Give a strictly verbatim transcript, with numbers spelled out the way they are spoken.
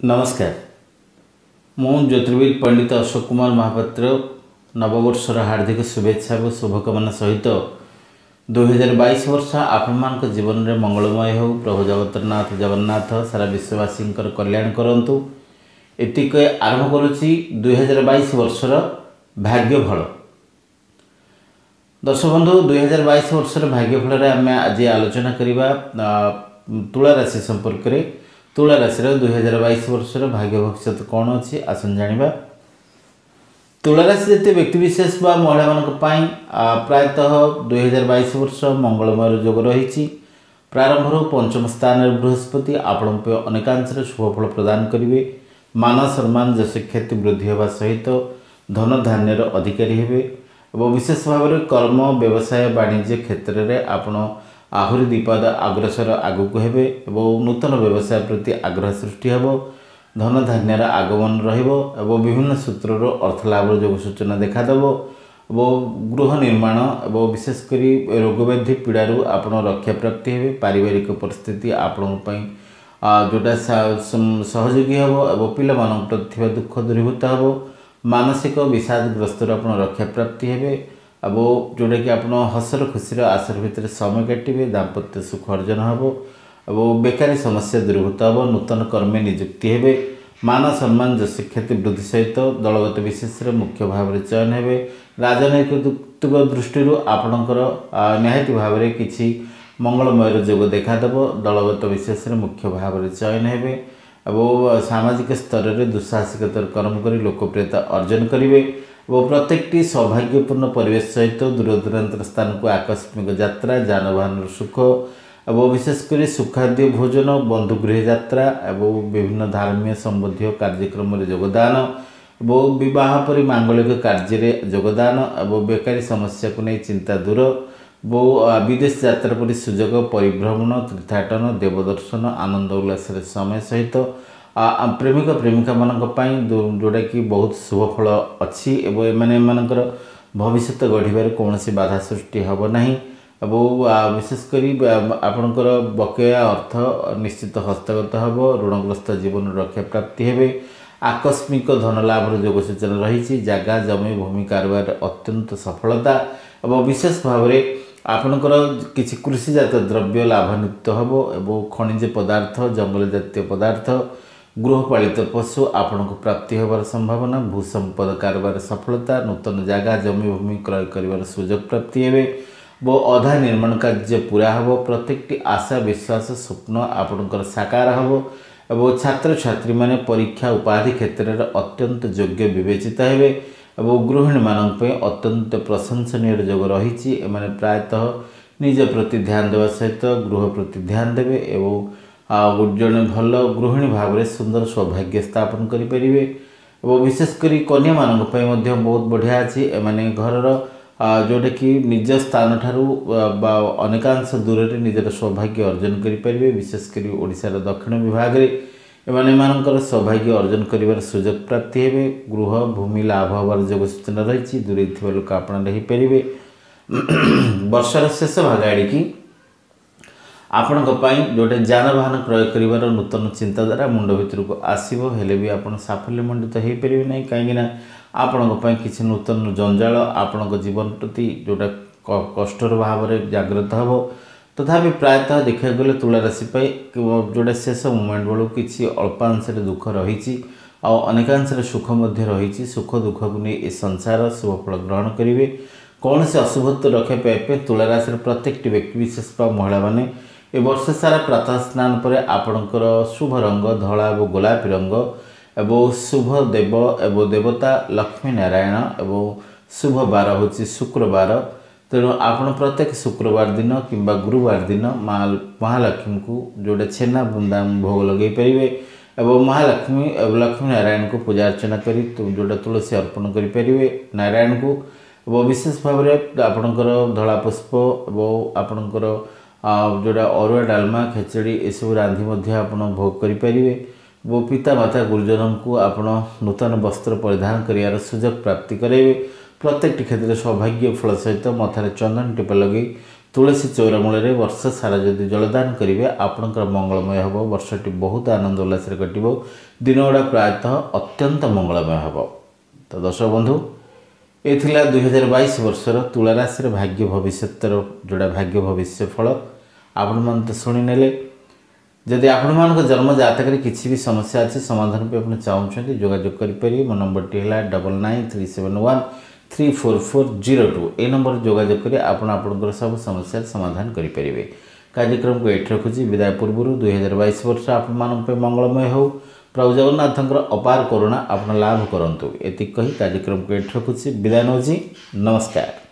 ନମସ୍କାର ମୁଁ ଜ୍ୟୋତିର୍ବିଦ ପଣ୍ଡିତ ଅଶୋକ କୁମାର ମହାପାତ୍ର ନବବର୍ଷର ହାର୍ଦ୍ଦିକ ଶୁଭେଚ୍ଛା ଏବଂ ଶୁଭକାମନା ସହିତ ଦୁଇହଜାର ବାଇଶ ବର୍ଷ ଆପଣମାନଙ୍କ ଜୀବନରେ ମଙ୍ଗଳମୟ ହେଉ ପ୍ରଭୁ ଜଗତରନାଥ ଜଗନ୍ନାଥ ସାରା ବିଶ୍ୱବାସୀଙ୍କର କଲ୍ୟାଣ କରନ୍ତୁ ଏତିକି ଆରମ୍ଭ କରୁଛି ଦୁଇହଜାର ବାଇଶ ବର୍ଷର ଭାଗ୍ୟଫଳ ଦର୍ଶକ ବନ୍ଧୁ ଦୁଇହଜାର ବାଇଶ ବର୍ଷର ଭାଗ୍ୟଫଳରେ ଆମେ ଆଜି ଆଲୋଚନା କରିବା ତୁଳା ରାଶି ସମ୍ପର୍କରେ ତୁଳା ରାଶିର ଦୁଇହଜାର ବାଇଶ ବର୍ଷର ଭାଗ୍ୟ ଭବିଷ୍ୟତ କ'ଣ ଅଛି ଆସନ୍ତୁ ଜାଣିବା ତୁଳା ରାଶି ଜାତୀୟ ବ୍ୟକ୍ତିବିଶେଷ ବା ମହିଳାମାନଙ୍କ ପାଇଁ ପ୍ରାୟତଃ ଦୁଇହଜାର ବାଇଶ ବର୍ଷ ମଙ୍ଗଳମୟର ଯୋଗ ରହିଛି ପ୍ରାରମ୍ଭରୁ ପଞ୍ଚମ ସ୍ଥାନରେ ବୃହସ୍ପତି ଆପଣଙ୍କ ପାଇଁ ଅନେକାଂଶରେ ଶୁଭଫଳ ପ୍ରଦାନ କରିବେ ମାନ ସମ୍ମାନ ଯଶଖ୍ୟାତି ବୃଦ୍ଧି ହେବା ସହିତ ଧନ ଧାନ୍ୟର ଅଧିକାରୀ ହେବେ ଏବଂ ବିଶେଷ ଭାବରେ କର୍ମ ବ୍ୟବସାୟ ବାଣିଜ୍ୟ କ୍ଷେତ୍ରରେ ଆପଣ ଆହୁରି ଦ୍ୱିପାଦ ଅଗ୍ରସର ଆଗକୁ ହେବେ ଏବଂ ନୂତନ ବ୍ୟବସାୟ ପ୍ରତି ଆଗ୍ରହ ସୃଷ୍ଟି ହେବ ଧନ ଧାନ୍ୟର ଆଗମନ ରହିବ ଏବଂ ବିଭିନ୍ନ ସୂତ୍ରରୁ ଅର୍ଥ ଲାଭର ଯୋଗ ସୂଚନା ଦେଖାଦେବ ଏବଂ ଗୃହ ନିର୍ମାଣ ଏବଂ ବିଶେଷ କରି ରୋଗବ୍ୟାଧି ପୀଡ଼ାରୁ ଆପଣ ରକ୍ଷା ପ୍ରାପ୍ତି ହେବେ ପାରିବାରିକ ପରିସ୍ଥିତି ଆପଣଙ୍କ ପାଇଁ ଯେଉଁଟା ସହଯୋଗୀ ହେବ ଏବଂ ପିଲାମାନଙ୍କ ପ୍ରତି ଥିବା ଦୁଃଖ ଦୂରୀଭୂତ ହେବ ମାନସିକ ବିଷାଦଗ୍ରସ୍ତରୁ ଆପଣ ରକ୍ଷା ପ୍ରାପ୍ତି ହେବେ ଏବଂ ଯେଉଁଟାକି ଆପଣ ହସର ଖୁସିର ଆସର ଭିତରେ ସମୟ କାଟିବେ ଦାମ୍ପତ୍ୟ ସୁଖ ଅର୍ଜନ ହେବ ଏବଂ ବେକାରୀ ସମସ୍ୟା ଦୂରୀଭୂତ ହେବ ନୂତନ କର୍ମେ ନିଯୁକ୍ତି ହେବେ ମାନ ସମ୍ମାନ ଯଶଖ୍ୟାତି ବୃଦ୍ଧି ସହିତ ଦଳଗତ ବିଶେଷରେ ମୁଖ୍ୟ ଭାବରେ ଚୟନ ହେବେ ରାଜନୈତିକ ଦୃଷ୍ଟିରୁ ଆପଣଙ୍କର ନିହାତି ଭାବରେ କିଛି ମଙ୍ଗଳମୟର ଯୋଗ ଦେଖାଦେବ ଦଳଗତ ବିଶେଷରେ ମୁଖ୍ୟ ଭାବରେ ଚୟନ ହେବେ ଏବଂ ସାମାଜିକ ସ୍ତରରେ ଦୁଃସାହସିକତାର କର୍ମ କରି ଲୋକପ୍ରିୟତା ଅର୍ଜନ କରିବେ ଏବଂ ପ୍ରତ୍ୟେକଟି ସୌଭାଗ୍ୟପୂର୍ଣ୍ଣ ପରିବେଶ ସହିତ ଦୂରଦୂରାନ୍ତର ସ୍ଥାନକୁ ଆକସ୍ମିକ ଯାତ୍ରା ଯାନବାହନର ସୁଖ ଏବଂ ବିଶେଷ କରି ସୁଖାଦ୍ୟ ଭୋଜନ ବନ୍ଧୁଗୃହ ଯାତ୍ରା ଏବଂ ବିଭିନ୍ନ ଧାର୍ମୀୟ ସମ୍ବନ୍ଧୀୟ କାର୍ଯ୍ୟକ୍ରମରେ ଯୋଗଦାନ ଏବଂ ବିବାହ ପରି ମାଙ୍ଗଳିକ କାର୍ଯ୍ୟରେ ଯୋଗଦାନ ଏବଂ ବେକାରୀ ସମସ୍ୟାକୁ ନେଇ ଚିନ୍ତା ଦୂର ଏବଂ ବିଦେଶ ଯାତ୍ରା ପରି ସୁଯୋଗ ପରିଭ୍ରମଣ ତୀର୍ଥାଟନ ଦେବଦର୍ଶନ ଆନନ୍ଦ ଉଲ୍ଲାସରେ ସମୟ ସହିତ ପ୍ରେମିକ ପ୍ରେମିକାମାନଙ୍କ ପାଇଁ ଯେଉଁଟାକି ବହୁତ ଶୁଭଫଳ ଅଛି ଏବଂ ଏମାନେ ଏମାନଙ୍କର ଭବିଷ୍ୟତ ଗଢ଼ିବାରେ କୌଣସି ବାଧା ସୃଷ୍ଟି ହେବ ନାହିଁ ଏବଂ ବିଶେଷ କରି ଆପଣଙ୍କର ବକେୟା ଅର୍ଥ ନିଶ୍ଚିତ ହସ୍ତଗତ ହେବ ଋଣଗ୍ରସ୍ତ ଜୀବନ ରକ୍ଷା ପ୍ରାପ୍ତି ହେବେ ଆକସ୍ମିକ ଧନ ଲାଭର ଯୋଗ ସୂଚନା ରହିଛି ଜାଗା ଜମି ଭୂମି କାରବାରରେ ଅତ୍ୟନ୍ତ ସଫଳତା ଏବଂ ବିଶେଷ ଭାବରେ ଆପଣଙ୍କର କିଛି କୃଷିଜାତ ଦ୍ରବ୍ୟ ଲାଭାନ୍ୱିତ ହେବ ଏବଂ ଖଣିଜ ପଦାର୍ଥ ଜଙ୍ଗଲ ଜାତୀୟ ପଦାର୍ଥ ଗୃହପାଳିତ ପଶୁ ଆପଣଙ୍କୁ ପ୍ରାପ୍ତି ହେବାର ସମ୍ଭାବନା ଭୂସମ୍ପଦ କାରବାର ସଫଳତା ନୂତନ ଜାଗା ଜମି ଭୂମି କ୍ରୟ କରିବାର ସୁଯୋଗ ପ୍ରାପ୍ତି ହେବେ ଏବଂ ଅଧା ନିର୍ମାଣ କାର୍ଯ୍ୟ ପୁରା ହେବ ପ୍ରତ୍ୟେକଟି ଆଶା ବିଶ୍ୱାସ ସ୍ୱପ୍ନ ଆପଣଙ୍କର ସାକାର ହେବ ଏବଂ ଛାତ୍ରଛାତ୍ରୀମାନେ ପରୀକ୍ଷା ଉପାଧି କ୍ଷେତ୍ରରେ ଅତ୍ୟନ୍ତ ଯୋଗ୍ୟ ବିବେଚିତ ହେବେ ଏବଂ ଗୃହିଣୀମାନଙ୍କ ପାଇଁ ଅତ୍ୟନ୍ତ ପ୍ରଶଂସନୀୟ ଯୋଗ ରହିଛି ଏମାନେ ପ୍ରାୟତଃ ନିଜ ପ୍ରତି ଧ୍ୟାନ ଦେବା ସହିତ ଗୃହ ପ୍ରତି ଧ୍ୟାନ ଦେବେ ଏବଂ ଆଉ ଜଣେ ଭଲ ଗୃହିଣୀ ଭାବରେ ସୁନ୍ଦର ସୌଭାଗ୍ୟ ସ୍ଥାପନ କରିପାରିବେ ଏବଂ ବିଶେଷ କରି କନ୍ୟାମାନଙ୍କ ପାଇଁ ମଧ୍ୟ ବହୁତ ବଢ଼ିଆ ଅଛି ଏମାନେ ଘରର ଯେଉଁଟାକି ନିଜ ସ୍ଥାନଠାରୁ ବା ଅନେକାଂଶ ଦୂରରେ ନିଜର ସୌଭାଗ୍ୟ ଅର୍ଜନ କରିପାରିବେ ବିଶେଷ କରି ଓଡ଼ିଶାର ଦକ୍ଷିଣ ବିଭାଗରେ ଏମାନେ ଏମାନଙ୍କର ସୌଭାଗ୍ୟ ଅର୍ଜନ କରିବାର ସୁଯୋଗ ପ୍ରାପ୍ତି ହେବେ ଗୃହ ଭୂମି ଲାଭ ହେବାର ଯୋଗ ସୂଚନା ରହିଛି ଦୂରେଇ ଥିବା ଲୋକ ଆପଣ ହେଇପାରିବେ ବର୍ଷର ଶେଷ ଭାଗ ଆଡ଼ିକି ଆପଣଙ୍କ ପାଇଁ ଯେଉଁଟା ଯାନବାହନ କ୍ରୟ କରିବାର ନୂତନ ଚିନ୍ତାଧାରା ମୁଣ୍ଡ ଭିତରକୁ ଆସିବ ହେଲେ ବି ଆପଣ ସାଫଲ୍ୟମଣ୍ଡିତ ହେଇପାରିବେ ନାହିଁ କାହିଁକିନା ଆପଣଙ୍କ ପାଇଁ କିଛି ନୂତନ ଜଞ୍ଜାଳ ଆପଣଙ୍କ ଜୀବନ ପ୍ରତି ଯେଉଁଟା କଷ୍ଟର ଭାବରେ ଜାଗ୍ରତ ହେବ ତଥାପି ପ୍ରାୟତଃ ଦେଖିବାକୁ ଗଲେ ତୁଳା ରାଶି ପାଇଁ ଯେଉଁଟା ଶେଷ ମୁମେଣ୍ଟ ବେଳକୁ କିଛି ଅଳ୍ପାଂଶରେ ଦୁଃଖ ରହିଛି ଆଉ ଅନେକାଂଶରେ ସୁଖ ମଧ୍ୟ ରହିଛି ସୁଖ ଦୁଃଖକୁ ନେଇ ଏ ସଂସାର ଶୁଭଫଳ ଗ୍ରହଣ କରିବେ କୌଣସି ଅଶୁଭତ୍ୱ ରକ୍ଷା ପାଇବା ପାଇଁ ତୁଳା ରାଶିର ପ୍ରତ୍ୟେକଟି ବ୍ୟକ୍ତିବିଶେଷ ବା ମହିଳାମାନେ ଏ ବର୍ଷ ସାରା ପ୍ରାତଃ ସ୍ନାନ ପରେ ଆପଣଙ୍କର ଶୁଭ ରଙ୍ଗ ଧଳା ଏବଂ ଗୋଲାପୀ ରଙ୍ଗ ଏବଂ ଶୁଭ ଦେବ ଏବଂ ଦେବତା ଲକ୍ଷ୍ମୀ ନାରାୟଣ ଏବଂ ଶୁଭ ବାର ହେଉଛି ଶୁକ୍ରବାର ତେଣୁ ଆପଣ ପ୍ରତ୍ୟେକ ଶୁକ୍ରବାର ଦିନ କିମ୍ବା ଗୁରୁବାର ଦିନ ମା ମହାଲକ୍ଷ୍ମୀଙ୍କୁ ଯେଉଁଟା ଛେନା ବୁନ୍ଦା ଭୋଗ ଲଗାଇ ପାରିବେ ଏବଂ ମହାଲକ୍ଷ୍ମୀ ଏବଂ ଲକ୍ଷ୍ମୀ ନାରାୟଣଙ୍କୁ ପୂଜା ଅର୍ଚ୍ଚନା କରି ଯେଉଁଟା ତୁଳସୀ ଅର୍ପଣ କରିପାରିବେ ନାରାୟଣଙ୍କୁ ଏବଂ ବିଶେଷ ଭାବରେ ଆପଣଙ୍କର ଧଳା ପୁଷ୍ପ ଏବଂ ଆପଣଙ୍କର ଯେଉଁଟା ଅରୁଆ ଡାଲମା ଖେଚେଡ଼ି ଏସବୁ ରାନ୍ଧି ମଧ୍ୟ ଆପଣ ଭୋଗ କରିପାରିବେ ଏବଂ ପିତାମାତା ଗୁରୁଜନଙ୍କୁ ଆପଣ ନୂତନ ବସ୍ତ୍ର ପରିଧାନ କରିବାର ସୁଯୋଗ ପ୍ରାପ୍ତି କରାଇବେ ପ୍ରତ୍ୟେକଟି କ୍ଷେତ୍ରରେ ସୌଭାଗ୍ୟ ଫଳ ସହିତ ମଥାରେ ଚନ୍ଦନ ଟିପା ଲଗାଇ ତୁଳସୀ ଚଉରା ମୂଳରେ ବର୍ଷ ସାରା ଯଦି ଜଳଦାନ କରିବେ, ଆପଣଙ୍କର ମଙ୍ଗଳମୟ ହେବ। ବର୍ଷଟି ବହୁତ ଆନନ୍ଦ ଉଲ୍ଲାସରେ କଟିବ। ଦିନଗୁଡ଼ା ପ୍ରାୟତଃ ଅତ୍ୟନ୍ତ ମଙ୍ଗଳମୟ ହେବ। ତ ଦର୍ଶକ ବନ୍ଧୁ, ଏ ଥିଲା ଦୁଇହଜାର ବାଇଶ ବର୍ଷର ତୁଳା ରାଶିର ଭାଗ୍ୟ ଭବିଷ୍ୟତର ଯୋଡ଼ା ଭାଗ୍ୟ ଭବିଷ୍ୟ ଫଳ। ଆପଣମାନେ ତ ଶୁଣିନେଲେ। ଯଦି ଆପଣମାନଙ୍କ ଜନ୍ମ ଜାତକରେ କିଛି ବି ସମସ୍ୟା ଅଛି, ସମାଧାନ ପାଇଁ ଆପଣ ଚାହୁଁଛନ୍ତି, ଯୋଗାଯୋଗ କରିପାରିବେ। ମୋ ନମ୍ବରଟି ହେଲା double nine three seven one three four four zero two. ଏହି ନମ୍ବରରେ ଯୋଗାଯୋଗ କରି ଆପଣ ଆପଣଙ୍କର ସବୁ ସମସ୍ୟାର ସମାଧାନ କରିପାରିବେ। କାର୍ଯ୍ୟକ୍ରମକୁ ଏଠି ରଖୁଛି। ବିଦାୟ ପୂର୍ବରୁ ଦୁଇହଜାର ବାଇଶ ବର୍ଷ ଆପଣମାନଙ୍କ ପାଇଁ ମଙ୍ଗଳମୟ ହେଉ। ପ୍ରଭୁ ଜଗନ୍ନାଥଙ୍କର ଅପାର କରୁଣା ଆପଣ ଲାଭ କରନ୍ତୁ, ଏତିକି କହି କାର୍ଯ୍ୟକ୍ରମକୁ ଏଠି ରଖୁଛି। ବିଦାୟ ନେଉଛି। ନମସ୍କାର।